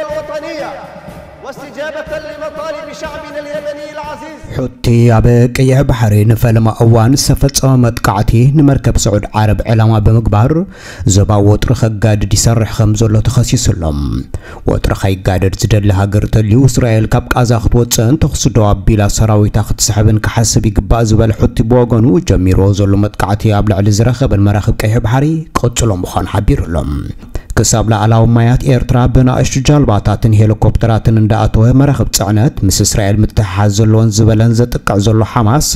الوطنية واستجابة لمطالب شعبنا اليمني العزيز. ሑቲ ኣብ ቀይሕ ባሕሪ ንፈለማ እዋን ዝተፈጸመ መጥቃዕቲ ንመርከብ ስዑድ ዓረብ ዕላማ ብምግባር ዞባዊ ወጥሪ ከጋድድ ይሰርሕ ከም ዘሎ ተኸሲሱ ኣሎ። ወጥሪ ከይጋደድ ዝደሊ ሃገር ተልዩ እስራኤል ካብ ቃዛ ክትወጽእን ተኹሲ ደው ኣቢላ ሰራዊታ ክትስሕብን ክሓስብ ይግባእ ዝበለ ሑቲ ብወገኑ ጀሚርዎ ዘሎ መጥቃዕቲ ኣብ ልዕሊ ዝረኸበን መራኽብ ቀይሕ ባሕሪ ክቕጽሎ ምዃኑ ሓቢሩ ኣሎ። ክሳብ ላዕላዊ ማያት ኤርትራ ብናእሽቱ ጃልባታትን ሄሊኮፕተራትን እንዳኣተወ መራኽብ ጽዕነት ምስ እስራኤል ምትሕሓዝ ዘለወን ዝበለን ዘጥቅዕ ዘሎ ሓማስ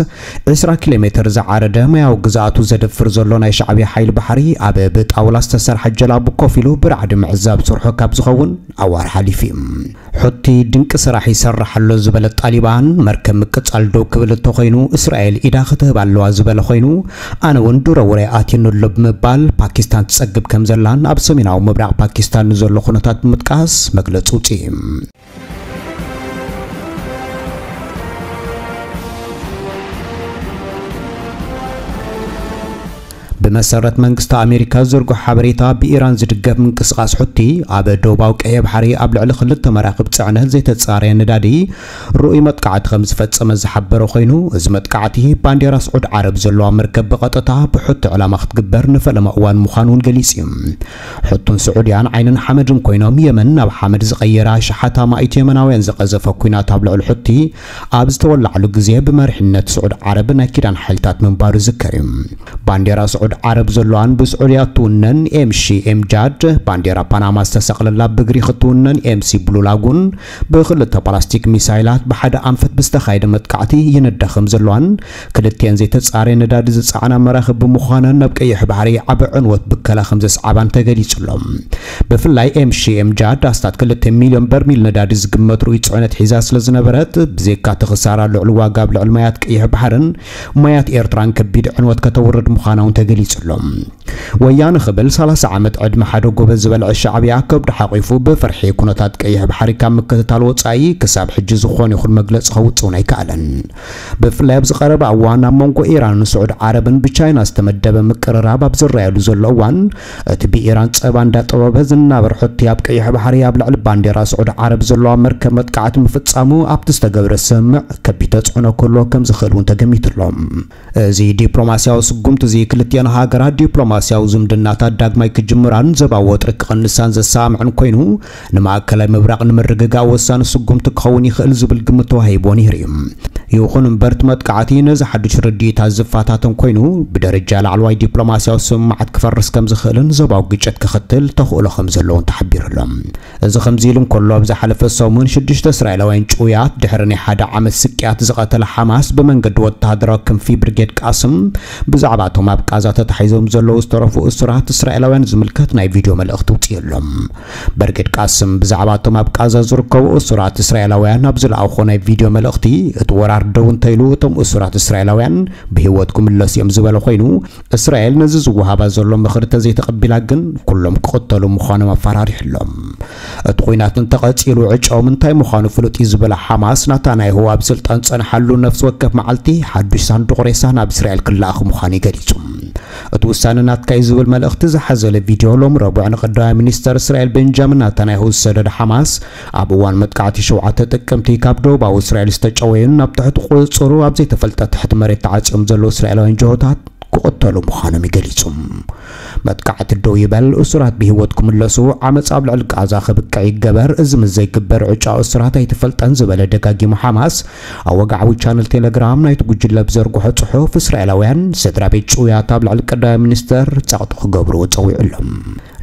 ዕስራ ኪሎ ሜትር ዝዓረደ ማያዊ ግዝኣቱ ዘደፍር ዘሎ ናይ ሻዕብያ ሓይሊ ባሕሪ ኣብ ብጣውላ ዝተሰርሐ ጀላቡ ኮፍ ኢሉ ብራዕዲ ምዕዛብ ስርሑ ካብ ዝኸውን ኣዋር ሓሊፉ እዩ። ሑቲ ድንቂ ስራሕ ይሰርሕ ኣሎ ዝበለ ጣሊባን መርከብ ምቅጻል ደው ክብል እንተኾይኑ እስራኤል ኢዳ ክትህብ ኣለዋ ዝበለ ኮይኑ ኣነ እውን ድሮ ውራይ ኣትዩኒ ኣሎ ብምባል ፓኪስታን ትጸግብ ከም ዘላን ኣብ ሰሜናዊ ምብራቕ ፓኪስታን ንዘሎ ኩነታት ብምጥቃስ መግለጺ ውጽኢ። ብመሰረት መንግስቲ ኣሜሪካ ዝዝርግሖ ሓበሬታ ብኢራን ዝድገፍ ምንቅስቓስ ሑቲ ኣብ ደቡባዊ ቀይሕ ባሕሪ ኣብ ልዕሊ ክልተ መራኽብ ጽዕነት ዘይተጻረየ ነዳዲ ርኡይ መጥቃዕቲ ከም ዝፈጸመ ዝሓበረ ኮይኑ እዚ መጥቃዕቲ ባንዴራ ስዑድ ዓረብ ዘለዋ መርከብ ብቐጥታ ብሑቲ ዕላማ ክትግበር ንፈለማ እዋን ምዃኑ እውን ገሊጹ እዩ። ሑቱን ስዑድያን ዓይንን ሓመድን ኮይኖም የመን ናብ ሓመድ ዝቐየራ ኣሽሓት ኣማኢት የመናውያን ዝቐዘፈ ኲናት ኣብ ልዕሊ ሑቲ ኣብ ዝተወላዕሉ ግዜ ብመሪሕነት ስዑድ ዓረብ ናይ ኪዳን ሓይልታት ምንባሩ ዝዝከር እዩ። ባንዴራ ስዑድ ዓረብ ዘለዋን ብስዑድያ እትውነን ኤምሺ ኤምጃድ ባንዴራ ፓናማ ዝተሰቕለላ ብግሪክ እትውነን ኤምሲ ብሉ ላጉን ብክልተ ፓላስቲክ ሚሳይላት ብሓደ ኣንፈት ብዝተኻየደ መጥቃዕቲ ይነዳ ከም ዘለዋን ክልቲኤን ዘይተጻረየ ነዳዲ ዝጸዓና መራኽብ ብምዃነን ናብ ቀይሕ ባሕሪ ዓቢ ዕንወት ብከላ ከም ዘስዓባን ተገሊጹ ኣሎ። ብፍላይ ኤምሺ ኤምጃድ ኣስታት ክልተ ሚልዮን በርሚል ነዳዲ ዝግመት ርኡይ ጽዕነት ሒዛ ስለ ዝነበረት ብዘይካ እቲ ክሳራ ልዑል ዋጋ ኣብ ልዕሊ ማያት ቀይሕ ባሕርን ማያት ኤርትራን ከቢድ ዕንወት ከተውርድ ምዃና እውን ተገሊጹ ኣሎ። ወያነ ክብል ሰላሳ ዓመት ዕድመ ሓደ ጎበዝ ዝበልዐ ሻዕብያ ከብዱ ሓቒፉ ብፍርሒ ኩነታት ቀይሕ ባሕሪ ካብ ምክትታል ወጻኢ ክሳብ ሕጂ ዝኾነ ይኹን መግለጺ ከውጽእ እውን ኣይከኣለን። ብፍላይ ኣብዚ ቀረባ እዋን ኣብ መንጎ ኢራንን ስዑድ ዓረብን ብቻይና ዝተመደበ ምቅርራብ ኣብ ዝረኣየሉ ዘሎ እዋን እቲ ብኢራን ጸባ እንዳጠበበ ዝናበር ሑቲ ኣብ ቀይሕ ባሕሪ ኣብ ልዕሊ ባንዴራ ስዑድ ዓረብ ዘለዋ መርከብ መጥቃዕቲ ምፍጻሙ ኣብቲ ዝተገብረ ስምምዕ ከቢድ ተጽዕኖ ክህልዎ ከም ዝኽእል እውን ተገሚቱ ኣሎ። እዚ ዲፕሎማስያዊ ስጉምቲ እዚ ክልቲኤን ሃገራት ዲፕሎማስያዊ ዝምድናታት ዳግማይ ክጅምራን ዘባዊ ወጥሪ ክቕንሳን ዘሰማምዕን ኮይኑ ንማእከላይ ምብራቕ ንምርግጋእ ወሳኒ ስጉምቲ ክኸውን ይኽእል ዝብል ግምት ተዋሂብዎ ነይሩ እዩ። ይኹን እምበር እቲ መጥቃዕቲ ነዚ ሓዱሽ ርድኢታት ዝፈታተን ኮይኑ ብደረጃ ላዕለዋይ ዲፕሎማስያዊ ስምምዓት ክፈርስ ከም ዝኽእልን ዘባዊ ግጭት ክኽትል ተኽእሎ ከም ዘለዎን ተሓቢሩ ኣሎ። እዚ ከምዚ ኢሉ እንከሎ ኣብ ዝሓለፈ ሰሙን ሽዱሽተ እስራኤላውያን ጭውያት ድሕሪ ናይ ሓደ ዓመት ስቅያት ዝቐተለ ሓማስ ብመንገዲ ወተሃደራዊ ክንፊ ብርጌድ ቃስም ብዛዕባ እቶም ኣብ ቃዛ ተታሒዞም ዘለዉ ዝተረፉ እሱራት እስራኤላውያን ዝምልከት ናይ ቪድዮ መልእኽቲ ውፅኡ ኣሎ። ብርጌድ ቃስም ብዛዕባ እቶም ኣብ ቃዛ ዝርከቡ እሱራት እስራኤላውያን ኣብ ዝለኣኾ ናይ ቪድዮ መልእኽቲ እቲ ወራር ደው እንተኢሉ እቶም እሱራት እስራኤላውያን ብህይወት ክምለሱ እዮም ዝበለ ኮይኑ እስራኤል ነዚ ዝወሃባ ዘሎ ምኽሪ ተዘይተቐቢላ ግን ኩሎም ክቕተሉ ምዃኖም ኣፈራሪሑ ኣሎ። እቲ ኲናት እንተቐጺሉ ዕጫኦም እንታይ ምዃኑ ፍሉጥ እዩ ዝበለ ሓማስ ናታንያሁ ኣብ ስልጣን ዝጸንሓሉ ነፍሲ ወከፍ መዓልቲ ሓዱሽ ሳንዱቕ ሬሳ ናብ እስራኤል ክለኣኽ ምዃኑ እዩ ገሊጹ። እቲ ውሳነ ናትካ እዩ ዝብል መልእኽቲ ዝሓዘለ ቪድዮ ሎሚ ረቡዕ ንቀዳማይ ሚኒስተር እስራኤል ቤንጃሚን ናታንያሁ ዝሰደደ ሓማስ ኣብ እዋን መጥቃዕቲ ሸውዓተ ጥቅምቲ ካብ ደቡባዊ እስራኤል ዝተጨወዩን ናብ ትሕቲ ቁጽጽሩ ኣብ ዘይተፈልጠ ትሕቲ መሬት ተዓጽዮም ዘለዉ እስራኤላውያን ጅሆታት ክቕተሉ ምዃኖም እዩ ገሊጹ። መጥቃዕቲ ደው ይበል፣ እሱራት ብህይወት ክምለሱ፣ ዓመጽ ኣብ ልዕሊ ቃዛ ክብቅዕ ይገበር፣ እዚ ምስ ዘይግበር ዕጫ እሱራት ኣይተፈልጠን ዝበለ ደጋጊሙ ሓማስ፣ ኣብ ወግዓዊ ቻነል ቴሌግራም ናይቲ ጉጅለ ብዘርግሖ ጽሑፍ እስራኤላውያን ስድራ ቤት ጭውያት ኣብ ልዕሊ ቀዳማይ ሚኒስተር ጸቕጢ ክገብርዎ ጸዊዑ ኣሎ።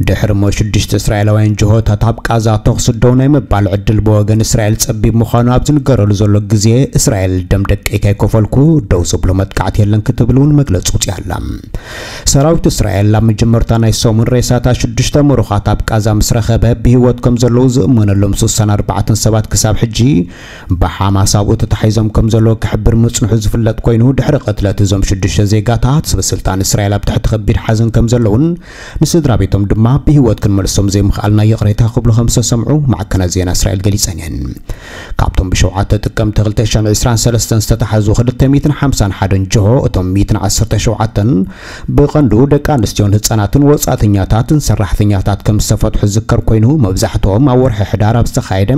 ድሕሪ እሞ ሽዱሽተ እስራኤላውያን ጅሆታት ኣብ ቃዛ ተኹሲ ደው ናይ ምባል ዕድል ብወገን እስራኤል ጸቢብ ምዃኑ ኣብ ዝንገረሉ ዘሎ ግዜ እስራኤል ደም ደቀይ ከይከፈልኩ ደው ዘብሎ መጥቃዕቲ የለን ክትብል እውን መግለጺ ውጽእ ኣላ። ሰራዊት እስራኤል ኣብ መጀመርታ ናይ ሰሙን ሬሳታት ሽዱሽተ ምሩኻት ኣብ ቃዛ ምስ ረኸበ ብህይወት ከም ዘለዉ ዝእመነሎም ስሳን ኣርባዕተን ሰባት ክሳብ ሕጂ ብሓማስ ኣብኡ ተታሒዞም ከም ዘለዉ ክሕብር ምጽንሑ ዝፍለጥ ኮይኑ ድሕሪ ቅትለት እዞም ሽዱሽተ ዜጋታት ሰበስልጣን እስራኤል ኣብ ትሕቲ ከቢድ ሓዘን ከም ዘለዉን ንስድራ ቤቶም ድማ ብህይወት ክንመልሶም ዘይምኽኣልና ይቕሬታ ክብሉ ከም ዝተሰምዑ ማዕከናት ዜና እስራኤል ገሊጸን እየን። ካብቶም ብሸውዓተ ጥቅምቲ ክልተ ሽሕን ዕስራን ሰለስተን ዝተታሓዙ ክልተ ሚእትን ሓምሳን ሓደን ጅሆ እቶም ሚእትን ዓሰርተ ሸውዓተ ተን ብቐንዱ ደቂ ኣንስትዮን ህጻናትን ወጻእተኛታትን ሰራሕተኛታት ከም ዝተፈትሑ ዝዝከር ኮይኑ፣ መብዛሕትኦም ኣብ ወርሒ ሕዳር ኣብ ዝተኻየደ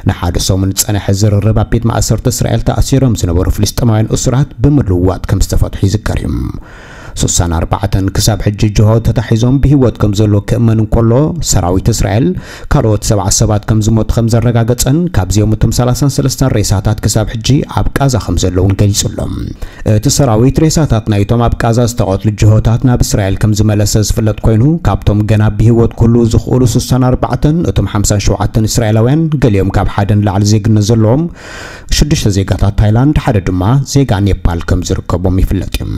ንሓደ ሰሙን ዝጸንሐ ዝርርብ ኣብ ቤት ማእሰርቲ እስራኤል ተኣሲሮም ዝነበሩ ፍልስጤማውያን እሱራት ብምልዋጥ ከም ዝተፈትሑ ይዝከር እዩ። ስሳን ኣርባዕተን ክሳብ ሕጂ ጅሆ ተታሒዞም ብህይወት ከም ዘሎ ክእመን እንከሎ፣ ሰራዊት እስራኤል ካልኦት ሰብዓ ሰባት ከም ዝሞቱ ከም ዘረጋገጸን ካብዚኦም እቶም ሰላሳን ሰለስተን ሬሳታት ክሳብ ሕጂ ኣብ ቃዛ ከም ዘለውን ገሊጹ ኣሎ። እቲ ሰራዊት ሬሳታት ናይቶም ኣብ ቃዛ ዝተቐትሉ ጅሆታት ናብ እስራኤል ከም ዝመለሰ ዝፍለጥ ኮይኑ፣ ካብቶም ገና ብህይወት ክህልዉ ዝኽእሉ ስሳን ኣርባዕተን፣ እቶም ሓምሳን ሸውዓተን እስራኤላውያን፣ ገሊኦም ካብ ሓደ ንላዕሊ ዜግነት ዘለዎም፣ ሽዱሽተ ዜጋታት ታይላንድ፣ ሓደ ድማ ዜጋ ኔፓል ከም ዝርከቦም ይፍለጥ እዩ።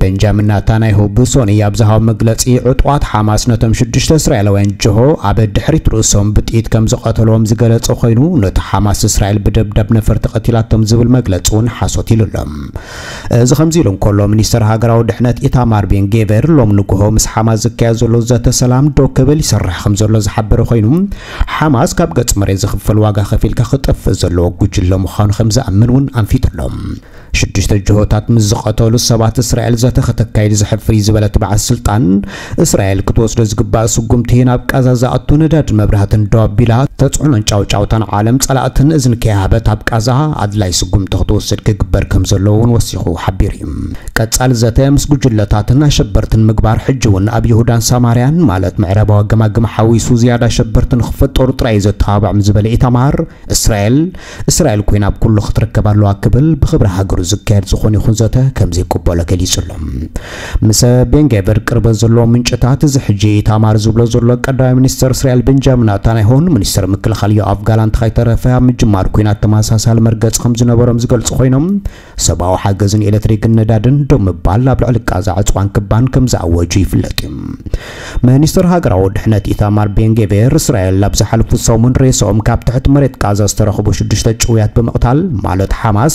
ቤንጃሚን ናታንያሁ ብሶኒ ኣብ ዝሃቦ መግለጺ፣ ዕጡቓት ሓማስ ነቶም ሽዱሽተ እስራኤላውያን ጅሆ ኣብ ድሕሪት ርእሶም ብጥይት ከም ዝቐተልዎም ዝገለጸ ኮይኑ፣ ነቲ ሓማስ እስራኤል ብደብዳብ ነፈርቲ ቀቲላቶም ዝብል መግለጺ እውን ሓሶት ኢሉ ኣሎ። እዚ ከምዚ ኢሉ እንከሎ፣ ሚኒስተር ሃገራዊ ድሕነት ኢታማር ቤን ጌቨር ሎም ንግሆ ምስ ሓማስ ዝካየድ ዘሎ ዘተ ሰላም ደው ክብል ይሰርሕ ከም ዘሎ ዝሓበረ ኮይኑ፣ ሓማስ ካብ ገጽ መሬት ዝኽፈል ዋጋ ከፊልካ ክጠፍእ ዘለዎ ጉጅለ ምዃኑ ከም ዝኣምን እውን ኣንፊቱ ኣሎ። ሽዱሽተ ጅሆታት ምስ ዝቐተሉ ሰባት እስራኤል ዘተ ከተካይድ ዝሕፍር እዩ ዝበለ እቲ በዓል ስልጣን፣ እስራኤል ክትወስዶ ዝግባእ ስጉምቲ ናብ ቃዛ ዝኣቱ ነዳድን መብራህትን ደው ኣቢላ፣ ተጽዕኖን ጫውጫውታን ዓለም ጸላእትን እዝኒ ከይሃበት ኣብ ቃዛ ኣድላይ ስጉምቲ ክትወስድ ክግበር ከም ዘለዎ እውን ወሲኹ ሓቢሩ እዩ። ቀጻሊ ዘተ ምስ ጉጅለታትን ኣሸበርትን ምግባር ሕጂ እውን ኣብ ይሁዳን ሳማርያን ማለት ምዕራባዊ ገማግም ሓዊሱ ዝያዳ ኣሸበርቲ ንክፈጠሩ ጥራይ እዩ ዘተባብዕ ምስ ዝበለ ኢታማር፣ እስራኤል እስራኤል ኮይና ኣብ ኩሉ ክትርከብ ኣለዋ ክብል ብክብሪ ሃገሩ ዝካየድ ዝኾነ ይኹን ዘተ ከም ዘይቅበሎ ገሊጹ ኣሎ። ምስ ቤን ጌቨር ቅርበት ዘለዎም ምንጭታት፣ እዚ ሕጂ ኢታማር ዝብሎ ዘሎ ቀዳማይ ሚኒስተር እስራኤል ቤንጃሚን ናታንያሁን ሚኒስተር ምክልኻል ዮኣቭ ጋላንት ከይተረፈ ኣብ ምጅማር ኲናት ተመሳሳሊ መርገጽ ከም ዝነበሮም ዝገልጹ ኮይኖም፣ ሰብኣዊ ሓገዝን ኤሌክትሪክን ነዳድን ደው ምባል ኣብ ልዕሊ ቃዛ ዕጽዋን ክባን ከም ዝኣወጁ ይፍለጥ እዩ። ሚኒስተር ሃገራዊ ድሕነት ኢታማር ቤን ጌቬር፣ እስራኤል ኣብ ዝሓለፉ ሰሙን ሬስኦም ካብ ትሕቲ መሬት ቃዛ ዝተረኽቡ ሽዱሽተ ጭውያት ብምቕታል፣ ማለት ሓማስ፣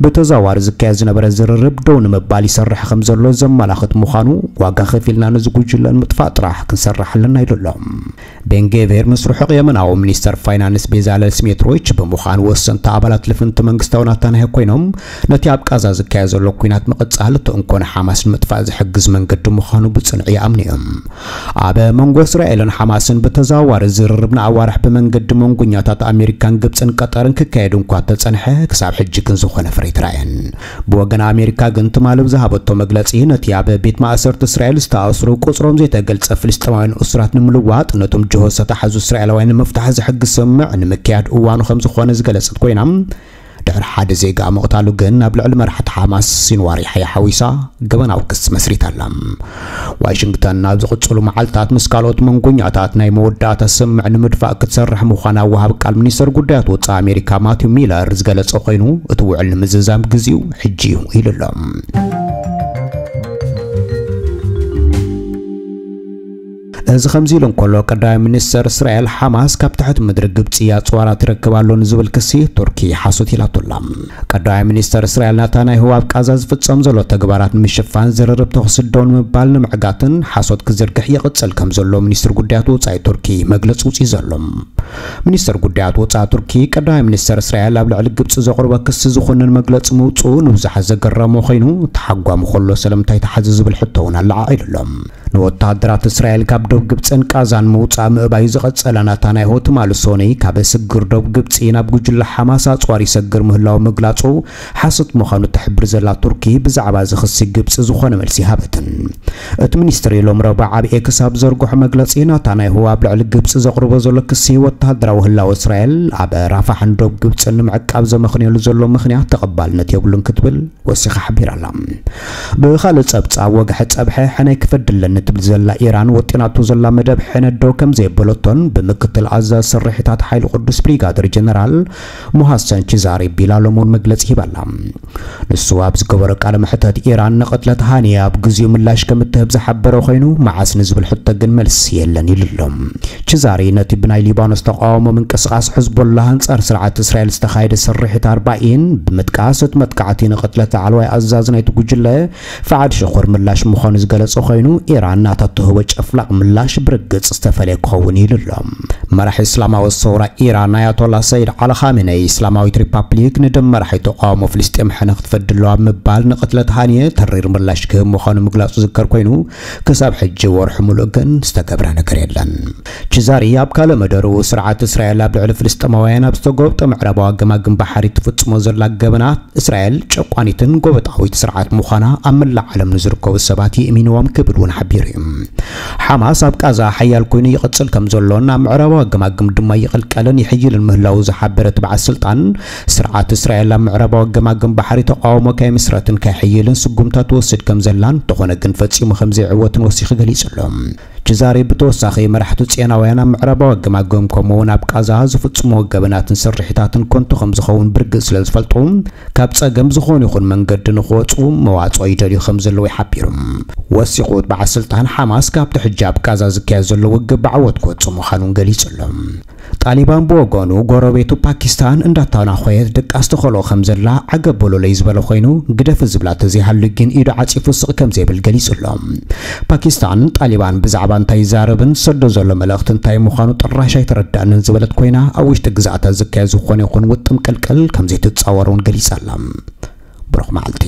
ብተዘዋዋሪ ዝካየድ ዝነበረ ዝርርብ ደው ንምባል ይሰርሕ ከም ዘሎ ዘመላኽት ምዃኑ፣ ዋጋ ከፊልና ነዚ ጉጅለ ንምጥፋእ ጥራሕ ክንሰርሕ ኣለና ኢሉ ኣሎ። ቤን ጌቬር ምስ ርሑቕ የመናዊ ሚኒስተር ፋይናንስ ቤዛለል ስሜትሮይች ብምዃን፣ ወሰንቲ ኣባላት ልፍንቲ መንግስታዊ ናታንያሁ ኮይኖም፣ ነቲ ኣብ ቃዛ ዝካየድ ዘሎ ኲናት ምቕጻል፣ እቲ እንኮ ንሓማስ ንምጥፋእ ዝሕግዝ መንገዲ ምዃኑ ብጽኑዕ ይኣምኑ እዮም። ኣብ መንጎ እስራኤልን ሓማስን ብተዘዋዋሪ ዝርርብ ንኣዋርሕ ብመንገዲ መንጎኛታት ኣሜሪካን ግብጽን ቀጠርን ክካየድ እንኳ ተጸንሐ፣ ክሳብ ሕጂ ግን ዝኾነ ፍረ ኣይተራእየን። ብወገን ኣሜሪካ ግን ትማሊ ብዝሃበቶ መግለጺ፣ ነቲ ኣብ ቤት ማእሰርቲ እስራኤል ዝተኣስሩ ቁጽሮም ዘይተገልጸ ፍልስጤማውያን እሱራት ንምልዋጥ፣ ነቶም ጅሆ ዝተታሕዙ እስራኤላውያን ንምፍታሕ ዝሕግዝ ስምምዕ ንምክያድ እዋኑ ከም ዝኾነ ዝገለጸት ኮይና፣ ድሕሪ ሓደ ዜጋ ምቕታሉ ግን ኣብ ልዕሊ መራሕቲ ሓማስ ሲንዋር ያሕያ ሓዊሳ ገበናዊ ክሲ መስሪታ ኣላ። ዋሽንግተን ኣብ ዝቕጽሉ መዓልታት ምስ ካልኦት መንጎኛታት ናይ መወዳእታ ስምምዕ ንምድፋእ ክትሰርሕ ምዃና ወሃብ ቃል ሚኒስተር ጉዳያት ወጻኢ ኣሜሪካ ማቲው ሚለር ዝገለጸ ኮይኑ፣ እቲ ውዕል ንምዝዛም ግዜኡ ሕጂ እዩ ኢሉ ኣሎ። እዚ ከምዚ ኢሉ እንከሎ፣ ቀዳማይ ሚኒስተር እስራኤል፣ ሓማስ ካብ ትሕቲ ምድሪ ግብጺ ኣጽዋራት ይረክብ ኣሎ ንዝብል ክሲ ቱርኪ ሓሶት ኢላቶ ኣላ። ቀዳማይ ሚኒስተር እስራኤል ናታንያሁ ኣብ ቃዛ ዝፍጸም ዘሎ ተግባራት ንምሽፋን ዝርርብ ተኹሲ ደው ንምባል ንምዕጋትን ሓሶት ክዝርግሕ ይቕጽል ከም ዘሎ ሚኒስትሪ ጉዳያት ወጻኢ ቱርኪ መግለጺ ውጽኢ ዘሎ። ሚኒስተር ጉዳያት ወጻኢ ቱርኪ፣ ቀዳማይ ሚኒስተር እስራኤል ኣብ ልዕሊ ግብጺ ዘቕርቦ ክሲ ዝኹንን መግለጺ ምውጽኡ ንብዙሓት ዘገረሞ ኮይኑ፣ ተሓጓሚ ከሎ ስለምንታይ ተሓዘ ዝብል ሕቶ እውን ኣለዓዒሉ ኣሎ። ንወተሃደራት እስራኤል ካብ ዶብ ግብጽን ቃዛን ምውጻእ ምእባዩ ዝቐጸለ ናታንያሁ፣ ትማሊ ሶኒ ካብ ስግር ዶብ ግብጺ ናብ ጉጅለ ሓማስ ኣጽዋር ይሰግር ምህላው ምግላጹ ሓሶት ምዃኑ ትሕብር ዘላ ቱርኪ፣ ብዛዕባ እዚ ክሲ ግብጺ ዝኾነ መልሲ ይሃበትን። እቲ ሚኒስትሪ ሎም ረቡዕ ኣብ ኤክስ ኣብ ዘርግሖ መግለጺ፣ ናታንያሁ ኣብ ልዕሊ ግብጺ ዘቕርቦ ዘሎ ክሲ፣ ወተሃደራዊ ህላወ እስራኤል ኣብ ራፋሕን ዶብ ግብጽን ንምዕቃብ ዘመኽንየሉ ዘሎ ምኽንያት ተቐባልነት የብሉን ክትብል ወሲኻ ሓቢራ ኣላ። ብኻልእ ጸብጻብ፣ ወግሐ ጸብሐ ሕነ ክፈዲ ኣለኒ ትብል ዘላ ኢራን፣ ወጢናቶ ዘላ መደብ ሕነ ደው ከም ዘየበለቶን ብምክትል ኣዛዚ ስርሒታት ሓይሊ ቅዱስ ብሪጋደር ጀነራል ሙሃሰን ቺዛሪ ቢላሎም እውን መግለጺ ሂባ ኣላ። ንሱ ኣብ ዝገበሮ ቃለ መሕተት፣ ኢራን ንቕትለት ሃኒየ ኣብ ግዜኡ ምላሽ ከም እትህብ ዝሓበረ ኮይኑ፣ መዓስ ንዝብል ሕቶ ግን መልሲ የለን ኢሉ ኣሎ። ቺዛሪ ነቲ ብናይ ሊባኖስ ተቃውሞ ምንቅስቓስ ሕዝቦላህ ኣንጻር ስርዓት እስራኤል ዝተኻየደ ስርሒት ኣርባዒን ብምጥቃስ፣ እቲ መጥቃዕቲ ንቕትለት ላዕለዋይ ኣዛዚ ናይቲ ጉጅለ ፋዓድ ሽኹር ምላሽ ምዃኑ ዝገለጸ ኮይኑ፣ ኢራን ኣናታት ትህቦ ጨፍላቕ ምላሽ ብርግጽ ዝተፈለየ ክኸውን ኢሉ ኣሎ። መራሒ እስላማዊ ሰውራ ኢራን ኣያቶላ ሰይድ ዓሊ ኻሜነይ፣ እስላማዊት ሪፓብሊክ ንደም መራሒ ተቃውሞ ፍልስጤም ሕነ ክትፈዲ ኣለዋ ብምባል ንቅትለት ሃኒየ ተሪር ምላሽ ክህብ ምዃኑ ምግላጹ ዝከር ኮይኑ፣ ክሳብ ሕጂ ወርሒ ሙሉእ ግን ዝተገብረ ነገር የለን። ቺዛሪ ኣብ ካልእ መደሩ፣ ስርዓት እስራኤል ኣብ ልዕሊ ፍልስጤማውያን ኣብ ዝተጎብጠ ምዕራባዊ ገማግም ባሕሪ ትፍጽሞ ዘላ ገበናት፣ እስራኤል ጨቋኒትን ጎበጣዊት ስርዓት ምዃና ኣብ መላእ ዓለም ንዝርከቡ ሰባት የእሚንዎም ክብል እውን ሓቢሩ እዩ። ሓማስ ኣብ ቃዛ ሓያል ኮይኑ ይቕጽል ከም ዘሎን ኣብ ምዕራባዊ ገማግም ድማ ይቕልቀልን ይሕይልን ምህላዉ ዝሓበረ እቲ በዓል ስልጣን፣ ስርዓት እስራኤል ኣብ ምዕራባዊ ገማግም ባሕሪ ተቃውሞ ከይምስረትን ከይሕይልን ስጉምታ ትወስድ ከም ዘላን፣ እንተኾነ ግን ፈጺሙ ከም ዘይዕወትን ወሲኹ ገሊጹ ኣሎ። ቺዛሪ ብተወሳኺ፣ መራሕቲ ጽዮናውያን ኣብ ምዕራባዊ ገማግም ከምኡውን ኣብ ቃዛ ዝፍጽሞ ገበናትን ስርሒታትን ከንቱ ከም ዝኸውን ብርግጽ ስለ ዝፈልጡ፣ ካብ ጸገም ዝኾነ ይኹን መንገዲ ንኽወጹ መዋጽኦ ይደልዩ ከም ዘለዉ ይሓቢሩ። ወሲኹ፣ በዓል ስልጣን፣ ሓማስ ካብቲ ሕጂ ኣብ ቃዛ ዝካየድ ዘሎ ውግእ ብዓወት ክወጽእ ምዃኑን ገሊጹ ኣሎ። ጣሊባን ብወገኑ፣ ጎረቤቱ ፓኪስታን እንዳተናኾየት ድቃስ ተኸልኦ ከም ዘላ ዓገብ በሉለይ ዝበለ ኮይኑ፣ ግደፊ ዝብላ ተዘይሃሉ ግን ኢዱ ዓጺፉ ስቕ ከም ዘይብል ገሊጹ ኣሎ። ፓኪስታን፣ ጣሊባን ብዛዕባ እንታይ ይዛረብን ዝሰዶ ዘሎ መልእኽቲ እንታይ ምዃኑ ጥራሽ ኣይተረዳእንን ዝበለት ኮይና፣ ኣብ ውሽጢ ግዝኣታ ዝካየድ ዝኾነ ይኹን ውጥም ቅልቅል ከም ዘይትጻወር እውን ገሊጻ ኣላ። ብሩኽ መዓልቲ።